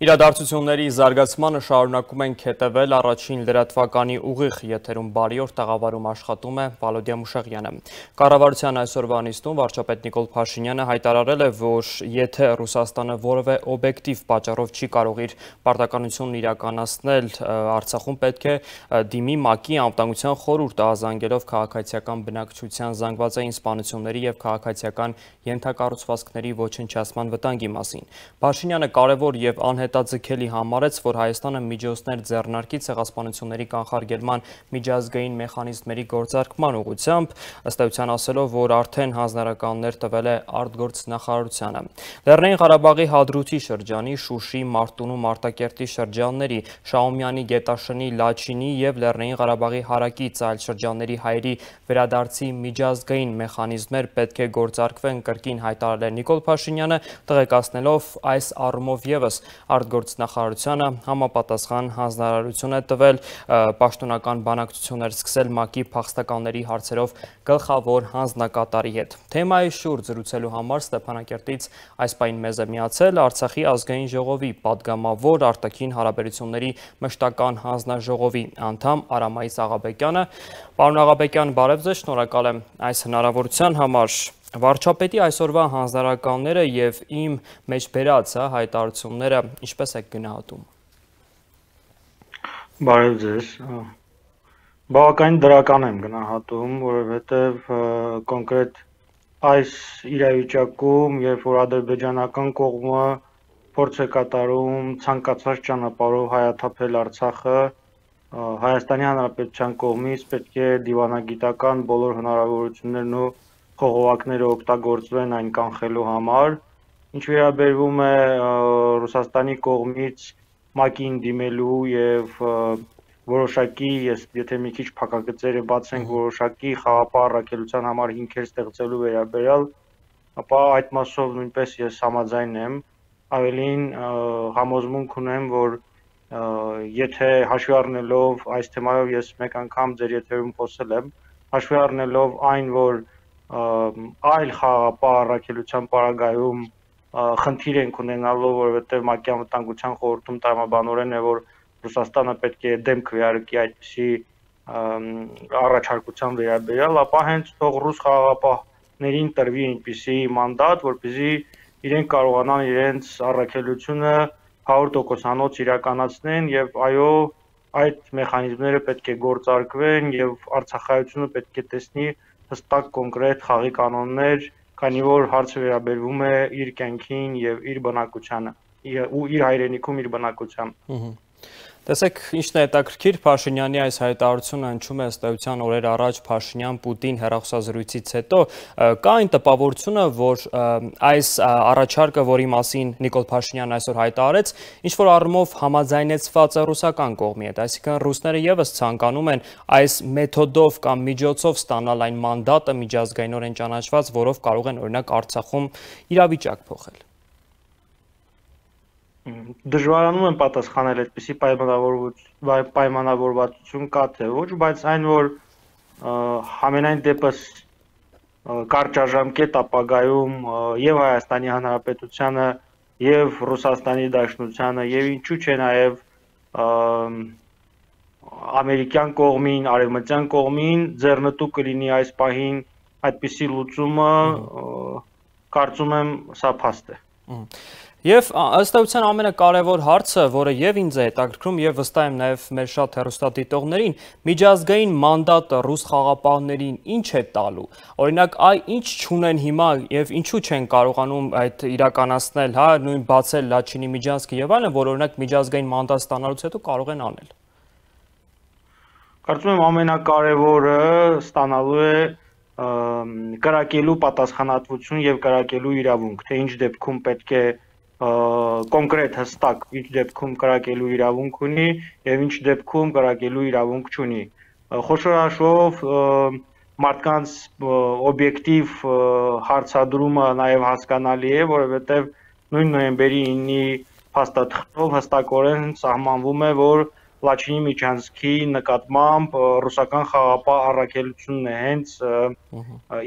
Իրադարձությունների զարգացմանը շարունակում ենք հետևել առաջին լրատվականի ուղիղ եթերում բարի օր տաղավարում աշխատում է Վալոդիա Մուշեղյանը։ Կառավարության այսօրվա նիստում վարչապետ Նիկոլ Փաշինյանը հայտարարել է, որ եթե Ռուսաստանը որևէ օբյեկտիվ պատճառով չի կարող իր պարտականությունն իրականացնել Արցախում, պետք է դիմի ՄԱԿ-ի անվտանգության խորհուրդը, ազանգելով քաղաքացիական բնակչության զանգվածային սպանությունների և քաղաքացիական ենթակառուցվածքների ոչնչացման վտանգի մասին։ Փաշինյանը կարևոր և անհետաձգելի համարեց, որ Հայաստանը միջոցներ ձեռնարկի ցեղասպանությունների կանխարգելման միջազգային մեխանիզմերի գործարկման ուղղությամբ, ըստ էության ասելով, որ արդեն հանձնարարականներ տվել է արտգործնախարարությանը։ Լեռնային Ղարաբաղի Հադրութի շրջանի, Շուշի, Մարտունու, Մարտակերտի շրջանների, Շահումյանի, Գետաշնի, Լաչինի և Լեռնային Ղարաբաղի հարակից այլ շրջանների հայերի վերադարձի միջազգային մեխանիզմներ պետք է գործարկվեն, կրկին հայտարարել է Նիկոլ Փաշինյանը, տեղեկացնելով այս առումով ևս արտգործնախարարությանը համապատասխան հանձնարարություն է տվել պաշտոնական բանակցություններ սկսել ՄԱԿ-ի փախստականների հարցերով գլխավոր հանձնակատարի հետ։ Թեմայի շուրջ զրուցելու համար Ստեփանակերտից այս պահին մեզ է միացել Արցախի ազգային ժողովի պատգամավոր արտաքին հարաբերությունների մշտական հանձնաժողովի անդամ Արամայիս Աղաբեկյանը։ Պարոն Աղաբեկյան, բարև ձեզ, շնորհակալ եմ այս հնարավորության համար։ Վարչապետի այսօրվա հանձնարարականները և իմ մեջ բերած հայտարարությունները ինչպես եք գնահատում։ Բարև ձեզ։ Բավականին դրական եմ գնահատում, որովհետև կոնկրետ այս իրավիճակում, երբ որ ադրբեջանական կողմը փորձ է կատարում ցանկացած ճանապարհով հայաթափել Արցախը, Հայաստանի Հանրապետության կողմից պետք է դիվանագիտական բոլոր հնարավորություններն ու խողովակները օգտագործվեն այն կանխելու համար։ Ինչ վերաբերվում է Ռուսաստանի կողմից ՄԱԿ-ին դիմելու եւ որոշակի, եթե մի քիչ փակագծերը բացենք, որոշակի խաղապահ առաքելության համար հիմքեր ստեղծելու վերաբերյալ, ապա այդ մասով նույնպես ես համաձայն եմ, ավելին համոզմունք ունեմ, որ եթե հաշվի առնելով այս թեմայով ես մեկ անգամ ձեր եթերում խոսել եմ, հաշվի առնելով այն, որ այլ խաղապահ առաքելության պարագայում խնդիր ենք ունենալու, որովհետև ՄԱԿ-ի անվտանգության խորհրդում տրամաբանորեն է, որ Ռուսաստանը պետք է դեմ քվեարկի այդպիսի առաջարկության վերաբերյալ, ապա հենց թող ռուս խաղապահներին տրվի այնպիսի մանդատ, որպեսզի իրենք կարողանան իրենց առաքելությունը 100%-անոց իրականացնեն եւ այո, այդ մեխանիզմները պետք է գործարկվեն եւ Արցախայությունը պետք է տեսնի հստակ կոնկրետ խաղի կանոններ, քանի որ հարցը վերաբերվում է իր կյանքին եւ իր բնակությանը ու իր հայրենիքում իր բնակությանը։ Տեսեք, ինչն է հետաքրքիր, Փաշինյանի այս հայտարարությունը հնչում է ըստ էության օրեր առաջ Փաշինյան-Պուտին հեռախոսազրույցից հետո, կա այն տպավորությունը, որ այս առաջարկը, որի մասին Նիկոլ Փաշինյանն այսօր հայտարարեց, ինչ-որ առումով համաձայնեցված է ռուսական կողմի հետ, այսինքն ռուսները ևս ցանկանում են այս մեթոդով կամ միջոցով ստանալ այն մանդատը միջազգայինորեն ճանաչված, որով կարող են օրինակ Արցախում իրավիճակ փոխել։ Դժվարանում եմ պատասխանել այդպիսի պայմանավորվածություն կա թե ոչ, բայց այն, որ համենայն դեպս կարճաժամկետ ապագայում եւ Հայաստանի Հանրապետությանը եւ Ռուսաստանի Դաշնությանը եւ ինչու՞ չէ նաեւ ամերիկյան կողմին, արևմտյան կողմին ձեռնտու կլինի այս պահին այդպիսի լուծումը, կարծում եմ սա փաստ է։ Եվ ըստ էության ամենակարևոր հարցը, որը եւ ինձ է հետաքրքրում եւ վստահ եմ նաեւ մեր շատ հեռուստադիտողներին, միջազգային մանդատը ռուս խաղապահներին ինչ է տալու։ Օրինակ, ինչ չունեն հիմա եւ ինչու չեն կարողանում այդ իրականացնել, հա, նույն բացել Լաչինի միջանցքը եւ այլն, որ օրինակ միջազգային մանդատ ստանալուց հետո կարող են անել։ Կարծում եմ ամենակարևորը ստանալու է կրակելու պատասխանատվություն եւ կրակելու իրավունք, թե ինչ դեպքում պետք է կոնկրետ հստակ ինչ դեպքում կրակելու իրավունք ունի եւ ինչ դեպքում կրակելու իրավունք չունի։ Խոշորաշով մարդկանց օբյեկտիվ հարցադրումը նաեւ հասկանալի է, որովհետեւ նույն նոյեմբերի 9-ի փաստաթղթով հստակորեն սահմանվում է, որ Լաչինի միջանցքի նկատմամբ ռուսական խաղապահ առաքելությունն է հենց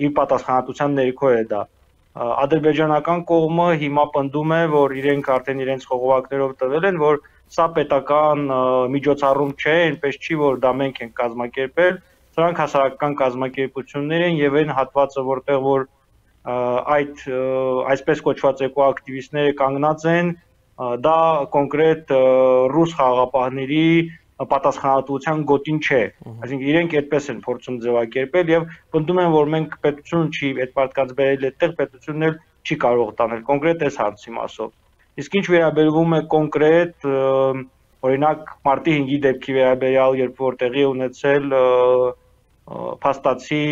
իր պատասխանատվության ներքո է դա։ ադրբեջանական կողմը հիմա պնդում է, որ իրենք արդեն իրենց խողովակներով տվել են, որ սա պետական միջոցառում չէ, այնպես չի, որ դա մենք ենք կազմակերպել, սրանք հասարակական կազմակերպություններ են եւ այն հատվածը, որտեղ որ այդ այսպես կոչված էկոակտիվիստները կանգնած են, դա կոնկրետ ռուս խաղաղապահների պատասխանատվության գոտին չէ, այսինքն իրենք այդպես են փորձում ձևակերպել եւ պնդում են, որ մենք պետություն չի այդ մարդկանց բերել այդտեղ, պետությունն էլ չի կարող տանել կոնկրետ այս հարցի մասով։ Իսկ ինչ վերաբերվում է կոնկրետ օրինակ մարտի 5-ի դեպքի վերաբերյալ, երբ որ տեղի ունեցել փաստացի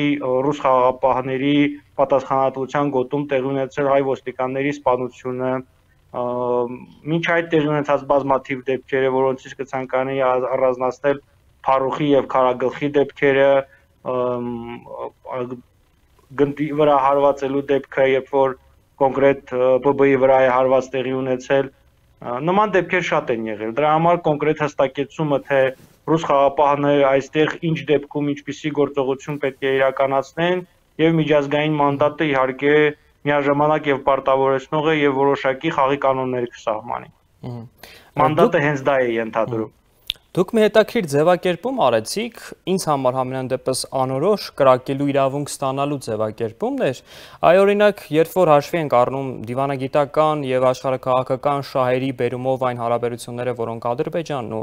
ռուս խաղաղապահների պատասխանատվության գոտում տեղի ունեցել հայ ոստիկանների սպանությունը, մինչ այդ տեղի ունեցած բազմաթիվ դեպքերը, որոնցից կցանկանայի առանձնացնել Փարուխի եւ Քարագլխի դեպքերը, գնդի վրա հարվածելու դեպքը, երբ որ կոնկրետ ԲԲ-ի վրա է հարված տեղի ունեցել, նման դեպքեր շատ են եղել։ Դրա համար կոնկրետ հստակեցումը, թե ռուս խաղաղապահները այստեղ ինչ դեպքում ինչպիսի գործողություն պետք է իրականացնեն եւ միջազգային մանդատը իհարկե միաժամանակ եւ պարտավորեցնող է եւ որոշակի խաղի կանոններ կսահմանի։ Մանդատը հենց դա է ենթադրում։ Դուք մի հետաքրքիր ձևակերպում արեցիք, ինձ համար համենայն դեպս անորոշ կրակելու իրավունք ստանալու ձևակերպումն էր, այ օրինակ, երբ որ հաշվի ենք առնում դիվանագիտական եւ աշխարհաքաղաքական շահերի բերումով այն հարաբերությունները, որոնք Ադրբեջանն ու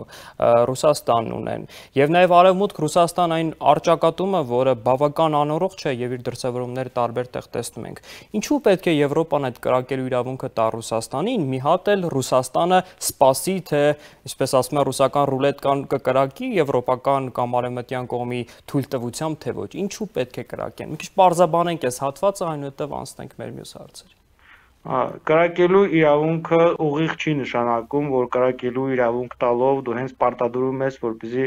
Ռուսաստանն ունեն, եւ նաեւ Արևմուտք Ռուսաստան այն առճակատումը, որը բավական անորոշ չէ եւ իր դրսեւորումները տարբեր տեղ տեսնում ենք։ Ինչու պետք է Եվրոպան այդ կրակելու իրավունքը տա Ռուսաստանին, մի հատ էլ Ռուսաստանը սպասի, թե ինչպես ասում են ռուսական ռուլետ կկրակի եվրոպական կամ արևմտյան կողմի թույլտվությամբ, թե ոչ, ինչու պետք է կրակեն։ Մի քիչ պարզաբանենք այս հատվածը, այնուհետև անցնենք մեր մյուս հարցերի։ Կրակելու իրավունքը ուղիղ չի նշանակում, որ կրակելու իրավունք տալով դու հենց պարտադրում ես, որպեսզի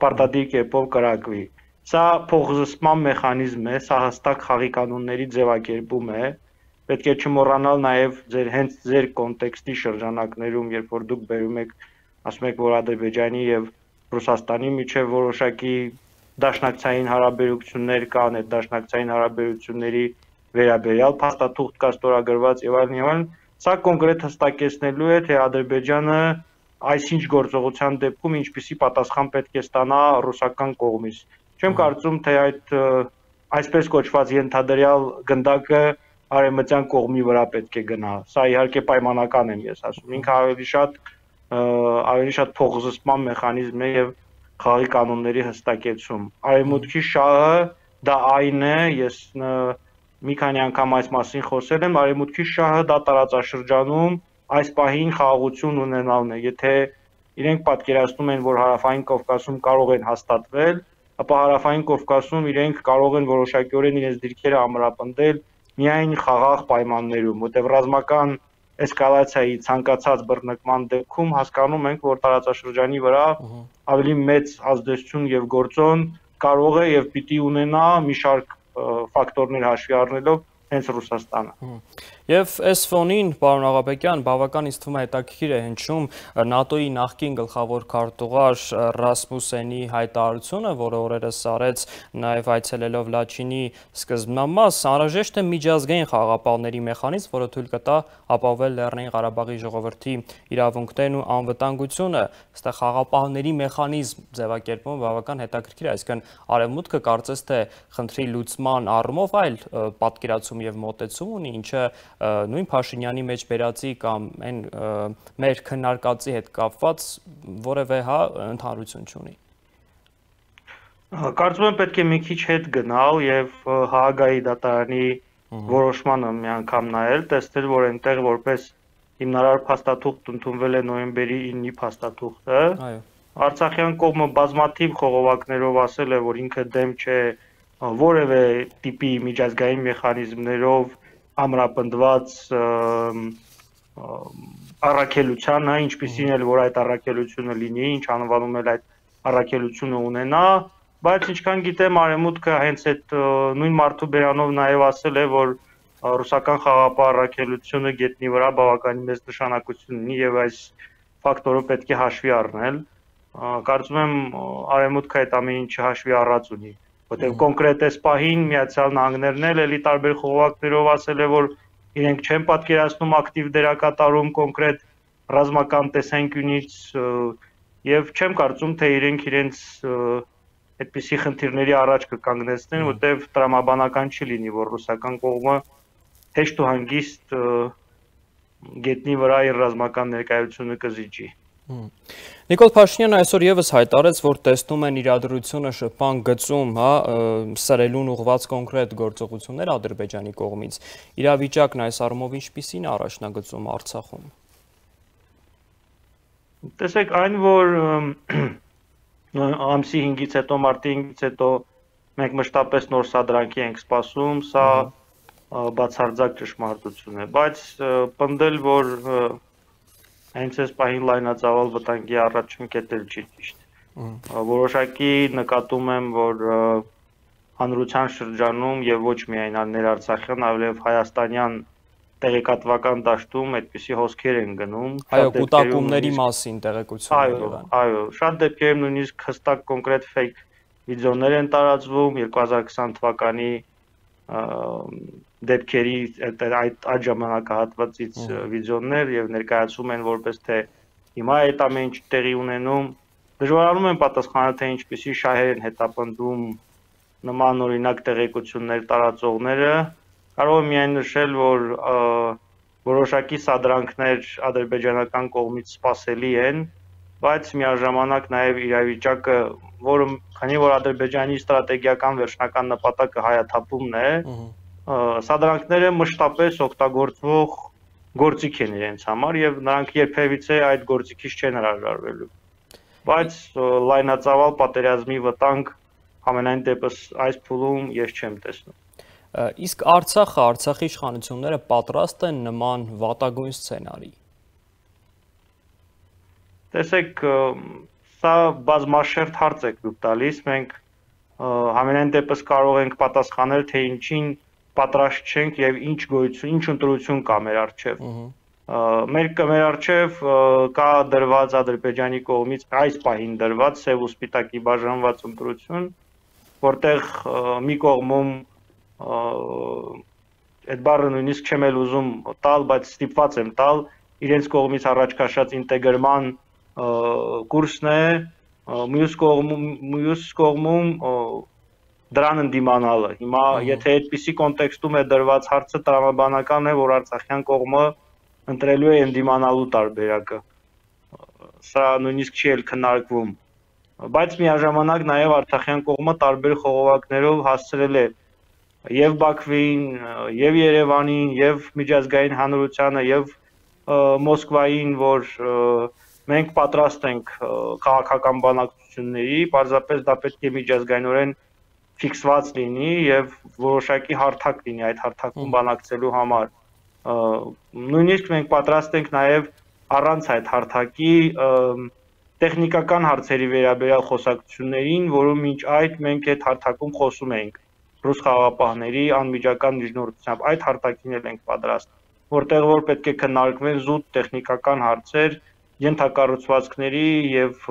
պարտադիր կերպով կրակվի։ Սա փոխզսպման մեխանիզմ է, սա հստակ խաղի կանոնների ձևակերպում է։ Պետք է չմոռանալ նաև հենց ձեր կոնտեքստի շրջանակներում, երբ որ դուք բերում եք ասում եք, որ Ադրբեջանի եւ Ռուսաստանի միջև որոշակի դաշնակցային հարաբերություններ կան, այդ դաշնակցային հարաբերությունների վերաբերյալ փաստաթուղթ կա ստորագրված եւ այլն, սա կոնկրետ հստակեցնելու է, թե Ադրբեջանը այսինչ գործողության դեպքում ինչպիսի պատասխան պետք է ստանա ռուսական կողմից։ Չեմ կարծում, թե այդ այսպես կոչված ենթադրյալ գնդակը արևմտյան կողմի վրա պետք է գնա։ Սա իհարկե պայմանական եմ ես ասում, ինքը ավելի շատ փոխզսպման մեխանիզմ է եւ խաղի կանոնների հստակեցում։ Արևմուտքի շահը դա այն է, ես մի քանի անգամ այս մասին խոսել եմ, արևմուտքի շահը դա տարածաշրջանում այս պահին խաղաղություն ունենալն է։ Եթե իրենք պատկերացնում են, որ հարավային Կովկասում կարող են հաստատվել, ապա հարավային Կովկասում իրենք կարող են որոշակիորեն իրենց դիրքերը ամրապնդել միայն խաղաղ պայմաններում, որտեղ ռազմական էսկալացիայի ցանկացած բռնկման դեպքում հասկանում ենք, որ տարածաշրջանի վրա ավելի մեծ ազդեցություն եւ գործոն կարող է եւ պիտի ունենա մի շարք ֆակտորներ հաշվի առնելով հենց Ռուսաստանը։ Եվ այս ֆոնին, պարոն Աղաբեկյան, բավական ինձ թվում է հետաքրքիր է հնչում ՆԱՏՕ-ի նախկին գլխավոր քարտուղար Ռասմուսենի հայտարարությունը, որը օրերս արեց նաև այցելելով Լաչինի սկզբնամաս, անհրաժեշտ է միջազգային խաղաղապահների մեխանիզմ, որը թույլ կտա ապահովել Լեռնային Ղարաբաղի ժողովրդի իրավունքներն ու անվտանգությունը։ Այստեղ խաղաղապահների մեխանիզմ ձևակերպումը բավական հետաքրքիր է, այսինքն Արևմուտքը կարծես թե խնդրի լուծման առումով այլ պատկերացում եւ մոտեցում ունի, ինչը նույն Փաշինյանի մեջ բերածի կամ այն մեր քննարկածի հետ կապված որևէ ընդհանրություն չունի։ Կարծում եմ պետք է մի քիչ հետ գնալ եւ Հաագայի դատարանի որոշմանը մի անգամ նայել, տեսնել, որ այնտեղ որպես հիմնարար փաստաթուղթ ընդունվել է նոյեմբերի 9-ի փաստաթուղթը։ Արցախյան կողմը բազմաթիվ խողովակներով ասել է, որ ինքը դեմ չէ որևէ տիպի միջազգային մեխանիզմներով ամրապնդված առաքելությանը, ինչպիսին էլ որ այդ առաքելությունը լինի, ինչ անվանում էլ այդ առաքելությունը ունենա, բայց ինչքան գիտեմ Արևմուտքը հենց այդ նույն մարդու բերանով նաև ասել է, որ ռուսական խաղաղապահ առաքելությունը գետնի վրա բավականին մեծ նշանակություն ունի եւ այս ֆակտորը պետք է հաշվի առնել։ Կարծում եմ Արևմուտքը այդ ամեն ինչը հաշվի առած ունի, որտեղ կոնկրետ այս պահին Միացյալ Նահանգներն էլ էլի տարբեր խողովակներով ասել է, որ իրենք չեն պատկերացնում ակտիվ դերակատարում կոնկրետ ռազմական տեսանկյունից եւ չեմ կարծում թե իրենց այդպիսի խնդիրների առաջ կկանգնեցնեն, որտեղ տրամաբանական չի լինի, որ ռուսական կողմը հեշտ ու հանգիստ գետնի վրա իր ռազմական ներկայությունը կզիջի։ Նիկոլ Փաշինյանը այսօր եւս հայտարարեց, որ տեսնում են իրադրությունը շփման գծում, սրելուն ուղղված կոնկրետ գործողություններ Ադրբեջանի կողմից։ Իրավիճակն այս առումով ինչպիսին է առաջնագծում Արցախում։ Տեսեք, այն որ ամսի 5-ից հետո, մարտի 5-ից հետո մենք մշտապես նոր սադրանքի ենք սպասում, սա բացարձակ ճշմարտություն է, բայց պնդել, որ հենց այս պահին լայնածավալ վտանգի առաջ ընկետել չի ճիշտ։ Որոշակի նկատում եմ, որ հանրության շրջանում եւ ոչ միայն ներարցախյան, այլև հայաստանյան տեղեկատվական դաշտում այդպիսի հոսքեր են գնում։ Այո, կուտակումների մասին տեղեկություններ եղան։ Այո, շատ դեպքերում նույնիսկ հստակ կոնկրետ ֆեյք վիդեոներ են տարածվում 2020 թվականի դեպքերի այդ ժամանակահատվածից վիդեոներ եւ ներկայացում են որպես թե հիմա այդ ամեն ինչ տեղի ունենում, դժվարանում են պատասխանել թե ինչպիսի շահեր են հետապնդում նման օրինակ տեղեկություններ տարածողները, կարող եմ միայն նշել, որ որոշակի սադրանքներ ադրբեջանական կողմից սպասելի են, բայց միաժամանակ նաեւ իրավիճակը, որը քանի որ Ադրբեջանի ստրատեգիական վերջնական նպատակը հայաթափումն է, սադրանքները մշտապես օգտագործվող գործիք են իրենց համար եւ նրանք երբևիցե այդ գործիքից չեն հրաժարվելու։ Բայց լայնածավալ պատերազմի վտանգ ամենայն դեպս այս փուլում ես չեմ տեսնում։ Իսկ Արցախը, Արցախի իշխանությունները պատրաստ են նման վատագույն սցենարի։ Տեսեք, սա բազմաշերտ հարց եք դուք տալիս, մենք ամենայն դեպս կարող ենք պատասխանել, թե ինչին պատրաստ չենք եւ ինչ գոյություն, ինչ ընտրություն կա մեր առջեւ։ Մեր առջեւ կա դրված Ադրբեջանի կողմից այս պահին դրված սև ու սպիտակի բաժանված ընտրություն, որտեղ մի կողմում այդ բառը նույնիսկ չեմ էլ ուզում տալ, բայց ստիպված եմ տալ, իրենց կողմից առաջ քաշած ինտեգրման կուրսն է, մյուս կողմում դրան ընդդիմանալը։ Հիմա եթե այդպիսի կոնտեքստում է դրված հարցը, տրամաբանական է, որ արցախյան կողմը ընտրելու է ընդդիմանալու տարբերակը։ Սա նույնիսկ չի էլ քննարկվում։ Բայց միաժամանակ նաև արցախյան կողմը տարբեր խողովակներով հասցրել է եւ Բաքվին, եւ Երևանին, եւ միջազգային հանրությանը, եւ Մոսկվային, որ մենք պատրաստ ենք քաղաքական բանակցությունների, պարզապես դա պետք է միջազգայինորեն ֆիքսված լինի եւ որոշակի հարթակ լինի այդ հարթակում բանակցելու համար։ Նույնիսկ մենք պատրաստ ենք նաեւ առանց այդ հարթակի տեխնիկական հարցերի վերաբերյալ խոսակցություններին, որում մինչ այդ մենք այդ հարթակում խոսում էինք ռուս խաղաղապահների անմիջական միջնորդությամբ, այդ հարթակին էլ ենք պատրաստ, որտեղ որ պետք է քննարկվեն զուտ տեխնիկական հարցեր, ենթակառուցվածքների եւ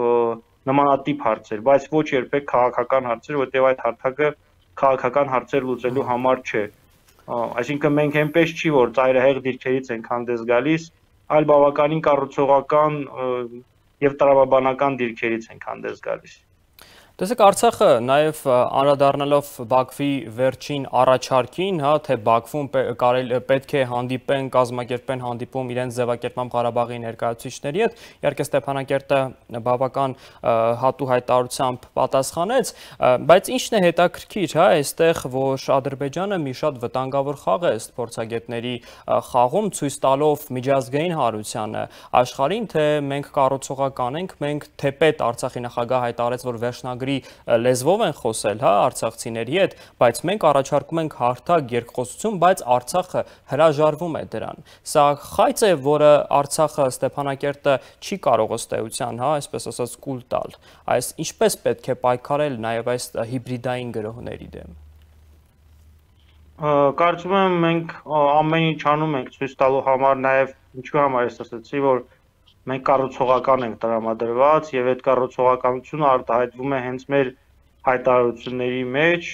նմանատիպ հարցեր, բայց ոչ երբեք քաղաքական հարցեր, որտեղ այդ հարթակը քաղաքական հարցեր լուծելու համար չէ։ Այսինքն մենք այնպես չի, որ ծայրահեղ դիրքերից ենք հանդես գալիս, այլ բավականին կառուցողական եւ տրամաբանական դիրքերից ենք հանդես գալիս։ Տեսեք, Արցախը նաև անդրադառնալով Բաքվի վերջին առաջարկին, թե Բաքվում պետք է հանդիպեն, կազմակերպեն հանդիպում իրենց ձևակերպման Ղարաբաղի ներկայացուցիչների հետ, իհարկե Ստեփանակերտը բավական հատու հայտարարությամբ պատասխանեց, բայց ինչն է հետաքրքիր, այստեղ, որ Ադրբեջանը մի շատ վտանգավոր խաղ է փորձագետների խաղում, ցույց տալով միջազգային հանրությանը աշխարհին, թե մենք կառուցողական ենք, մենք թեպետ Արցախի նախագահ հայտարարեց, որ վերջնագրի լեզվով են խոսել, արցախցիների հետ, բայց մենք առաջարկում ենք հարթակ երկխոսություն, բայց Արցախը հրաժարվում է դրան։ Սա խայծ է, որը Արցախը Ստեփանակերտը չի կարող ըստ էության, այսպես ասած, կուլ տալ։ Այս ինչպես պետք է պայքարել նաև այս հիբրիդային գրոհների դեմ։ Կարծում եմ մենք ամեն ինչ անում ենք ցույց տալու համար, նաև ինչու համար ես ասացի, որ մենք կառուցողական ենք տրամադրված եւ այդ կառուցողականությունը արտահայտվում է հենց մեր հայտարարությունների մեջ,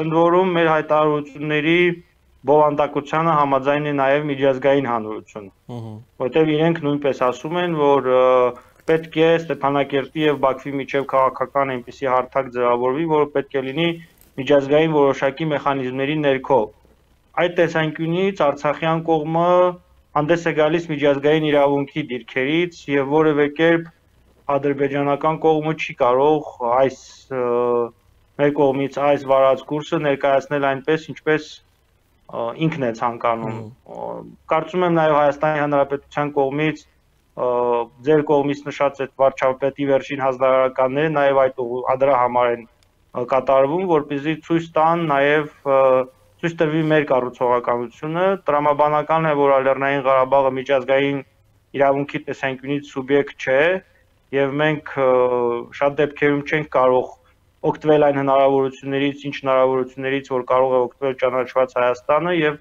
ընդ որում մեր հայտարարությունների բովանդակությանը համաձայն է նաև միջազգային հանրությունը, որտեղ իրենք նույնպես ասում են, որ պետք է Ստեփանակերտի եւ Բաքվի միջև քաղաքական այնպիսի հարթակ ձևավորվի, որը պետք է լինի միջազգային որոշակի մեխանիզմների ներքո։ Այդ տեսանկյունից Արցախյան կողմը հանդես է գալիս միջազգային իրավունքի դիրքերից եւ որևէ կերպ ադրբեջանական կողմը չի կարող այս մեր կողմից այս վարած կուրսը ներկայացնել այնպես, ինչպես ինքն է ցանկանում։ Կարծում եմ նաև Հայաստանի Հանրապետության կողմից ձեր կողմից նշած այդ վարչապետի վերջին հանձնարարականները նաև այդ դրա համար են կատարվում, որպեսզի ցույց տան նաև ցույց տրվի մեր կառուցողականությունը, տրամաբանական է, որ Լեռնային Ղարաբաղը միջազգային իրավունքի տեսանկյունից սուբյեկտ չէ, եւ մենք շատ դեպքերում չենք կարող օգտվել այն հնարավորություններից, ինչ հնարավորություններից, որ կարող է օգտվել ճանաչված Հայաստանը եւ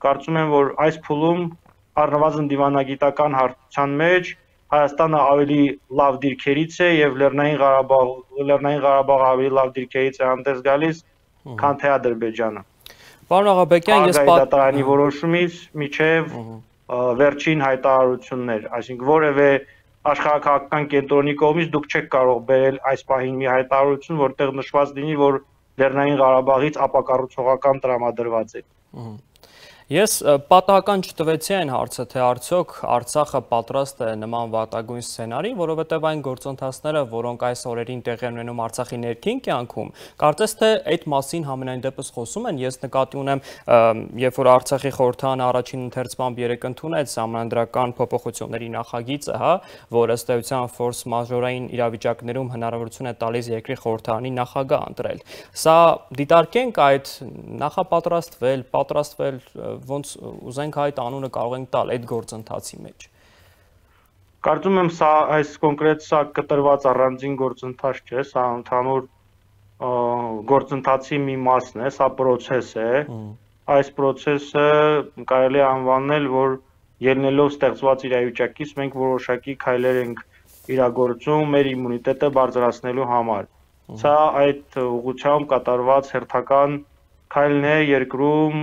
կարծում եմ, որ այս փուլում առնվազն դիվանագիտական հարթության մեջ Հայաստանը ավելի լավ դիրքերից է եւ Լեռնային Ղարաբաղը ավելի լավ դիրքերից է հանդես գալիս, քան թե Ադրբեջանը։ Պարոն Աղաբեկյան, ես դատարանի որոշումից միջև վերջին հայտարարություններ, այսինքն որևէ աշխարհակաղակական կենտրոնի կողմից դուք չեք կարող բերել այս պահին մի հայտարարություն, որտեղ նշված լինի, որ Լեռնային Ղարաբաղից ապակառուցողական տրամադրված է։ Ես պատահական չտվեցի այն հարցը, թե արդյոք Արցախը պատրաստ է նման վատագույն սցենարի, որովհետև այն գործընթացները, որոնք այս օրերին տեղի են ունենում Արցախի ներքին կյանքում, կարծես թե այդ մասին համենայն դեպս խոսում են։ Ես նկատի ունեմ, երբ որ Արցախի խորհրդարանը առաջին ընթերցմամբ երեկ ընդունեց սահմանադրական փոփոխությունների նախագիծը, որ ըստ էության ֆորս մաժորային իրավիճակներում հնարավորություն է տալիս երկրի խորհրդարանի նախագահ ընտրել։ Սա դիտարկենք այդ պատրաստվել ոնց ուզենք այդ անունը կարող ենք տալ այդ գործընթացի մեջ։ Կարծում եմ այս կոնկրետ սա կտրված առանձին գործընթաց չէ, սա ընդհանուր գործընթացի մի մասն է, սա process է։ Այս process-ը կարելի է անվանել, որ ելնելով ստեղծված իրավիճակից մենք որոշակի քայլեր ենք իրագործում մեր իմունիտետը բարձրացնելու համար։ Սա այդ ուղղությամբ կատարված հերթական քայլն է երկրում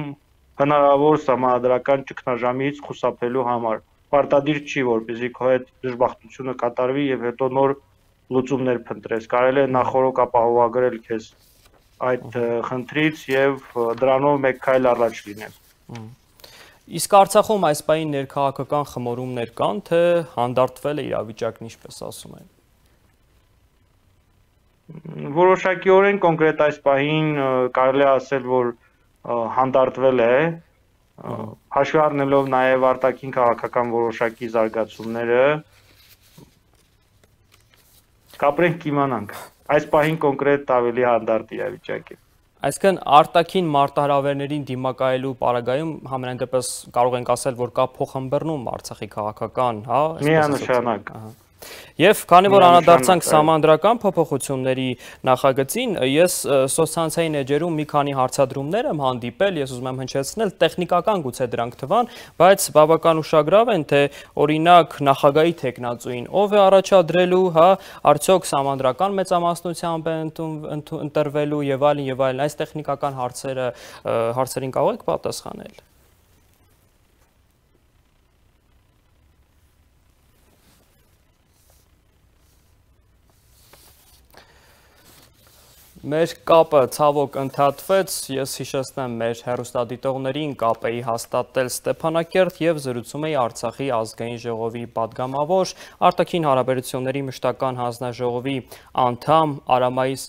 հնարավոր սահմանադրական ճգնաժամից խուսափելու համար։ Պարտադիր չի, որպեսզի քո այդ դժբախտությունը կատարվի եւ հետո նոր լուծումներ փնտրես։ Կարելի է նախորոք ապահովագրել քեզ այդ խնդրից եւ դրանով մեկ քայլ առաջ լինել։ Իսկ Արցախում այս պահին ներքաղաքական խմորումներ կան, թե հանդարտվել է իրավիճակն, ինչպես ասում են։ Որոշակիորեն կոնկրետ այս պահին կարելի է ասել, որ հանդարտվել է, հաշվի առնելով նաև արտաքին քաղաքական որոշակի զարգացումները, կապրենք կիմանանք, այս պահին կոնկրետ ավելի հանդարտ իրավիճակ է։ Այսինքն արտաքին մարտահրավերներին դիմակայելու պարագայում համենայն դեպս կարող ենք ասել, որ կա փոխհմբռնում Արցախի քաղաքական, միանշանակ։ Եվ քանի որ անդրադարձանք սահմանադրական փոփոխությունների նախագծին, ես սոցցանցային էջերում մի քանի հարցադրումներ եմ հանդիպել, ես ուզում եմ հնչեցնել, տեխնիկական գուցե դրանք թվան, բայց բավական ուշագրավ են, թե օրինակ նախագահի թեկնածուին ով է առաջադրելու, արդյոք սահմանադրական մեծամասնությամբ է ընտրվելու եւ այլն, այս տեխնիկական հարցերին կարող եք պատասխանել։ Մեր կապը ցավոք ընդհատվեց, ես հիշեցնեմ մեր հեռուստադիտողներին կապ էի հաստատել Ստեփանակերտ եւ զրուցում էի Արցախի ազգային ժողովի պատգամավոր, արտաքին հարաբերությունների մշտական հանձնաժողովի անդամ Արամայիս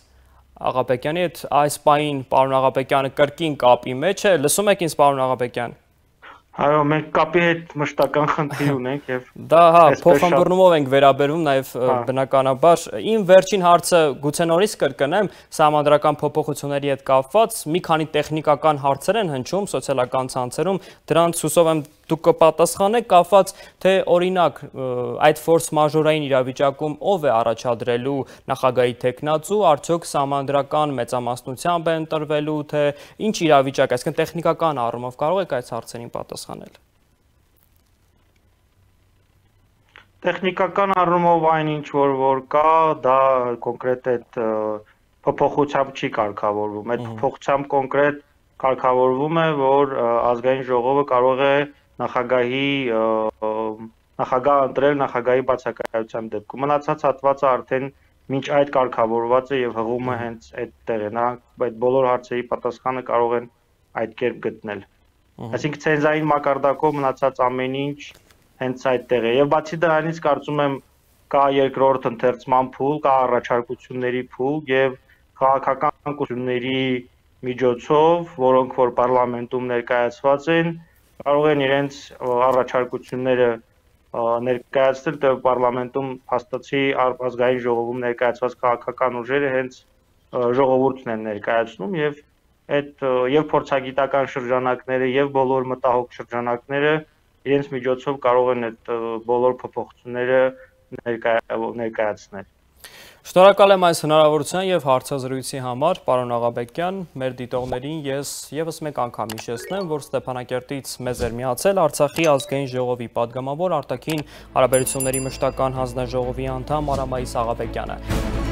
Աղաբեկյանի հետ։ Այս պահին պարոն Աղաբեկյանը կրկին կապի մեջ է, լսում եք ինձ պարոն Աղաբեկյան։ Այո, մենք կապի հետ մշտական խնդիր ունենք եւ դա փոխհմբռնումով ենք վերաբերվում նաեւ բնականաբար։ Իմ վերջին հարցը գուցե նորից կրկնեմ, սահմանադրական փոփոխությունների հետ կապված մի քանի տեխնիկական հարցեր են հնչում սոցիալական ցանցերում, դրանց հուսով եմ դուք կպատասխանեք, կապված թե օրինակ այդ ֆորս մաժորային իրավիճակում ով է առաջադրելու նախագահի թեկնածու, արդյոք սահմանադրական մեծամասնությամբ է ընտրվելու, թե ինչ իրավիճակ, այսինքն տեխնիկական առումով կարող եք այս հարցերին պատասխանել։ Տեխնիկական առումով այն ինչ որ կա, դա կոնկրետ այդ փոփոխությամբ չի կարգավորվում։ Այդ փոփոխությամբ կոնկրետ կարգավորվում է, որ ազգային ժողովը կարող է նախագահ ընտրել նախագահի բացակայության դեպքում։ Մնացած հատվածը արդեն մինչ այդ կարգավորված է եւ հղումը հենց այդտեղ է։ Նրանք այդ բոլոր հարցերի պատասխանը կարող են այդ կերպ գտնել։ Այսինքն ցենզային մակարդակով մնացած ամեն ինչ հենց այդտեղ է։ Եվ բացի դրանից կարծում եմ կա երկրորդ ընթերցման փուլ, կա առաջարկությունների փուլ եւ քաղաքական կուսումների միջոցով, որոնք որ պարլամենտում ներկայացված են, կարող են իրենց առաջարկությունները ներկայացնել, թե պարլամենտում փաստացի ազգային ժողովում ներկայացված քաղաքական ուժերը հենց ժողովուրդն են ներկայացնում եւ այդ եւ փորձագիտական շրջանակները եւ բոլոր մտահոգ շրջանակները իրենց միջոցով կարող են այդ բոլոր փոփոխությունները ներկայացնել։ Շնորհակալ եմ այս հնարավորության եւ հարցազրույցի համար, պարոն Աղաբեկյան, մեր դիտողներին ես եւս մեկ անգամ հիշեցնեմ, որ Ստեփանակերտից մեզ էր միացել Արցախի ազգային ժողովի падգամավոր արտաքին հարաբերությունների մշտական հանձնաժողովի անդամ Արամայիս Աղաբեկյանը։